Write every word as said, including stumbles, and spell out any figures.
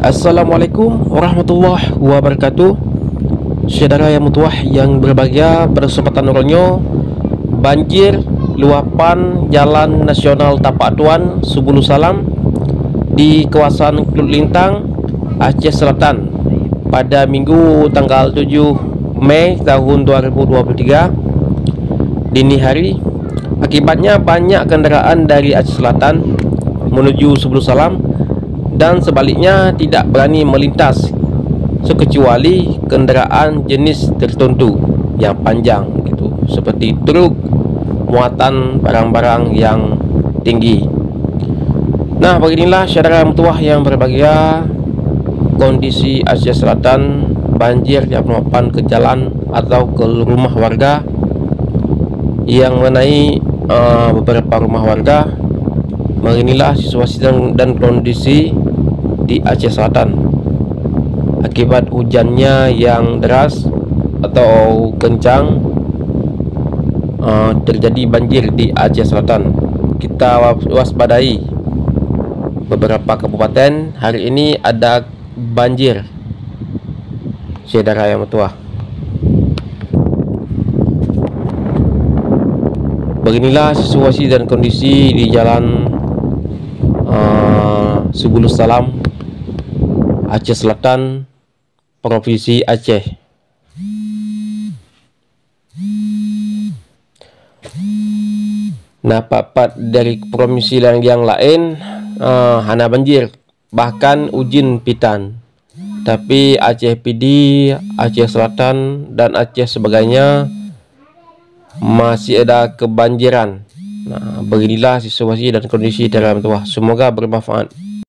Assalamualaikum warahmatullahi wabarakatuh. Syedara nyang meutuwah nyang berbahagia, pada kesempatan uroe nyoe, banjir luapan Jalan Nasional Tapak Tuan Subulu Salam di kawasan Klut Lintang, Aceh Selatan, pada Minggu tanggal tujuh Mei tahun dua ribu dua puluh tiga, dini hari. Akibatnya, banyak kendaraan dari Aceh Selatan menuju Subulu Salam dan sebaliknya tidak berani melintas, sekecuali kendaraan jenis tertentu yang panjang gitu, seperti truk muatan barang-barang yang tinggi. Nah, beginilah syedara meutuwah yang berbahagia, kondisi Aceh Selatan, banjir yang meluapkan ke jalan atau ke rumah warga yang mengenai, eh, beberapa rumah warga. Beginilah situasi dan, dan kondisi di Aceh Selatan. Akibat hujannya yang deras atau kencang, eh, terjadi banjir di Aceh Selatan. Kita wa-, waspadai beberapa kabupaten hari ini ada banjir, syedara nyang meutuwah. Beginilah situasi dan kondisi di jalan, eh, Subulus Salam, Aceh Selatan, Provinsi Aceh. Na pat-pat dari provinsi nyang laén, eh, hana banjir, bahkan ujeuen pitan. Tapi Aceh Pidie, Aceh Selatan, dan Aceh sebagainya masih ada kebanjiran. Nah, beginilah situasi dan kondisi dalam tuah. Semoga bermanfaat.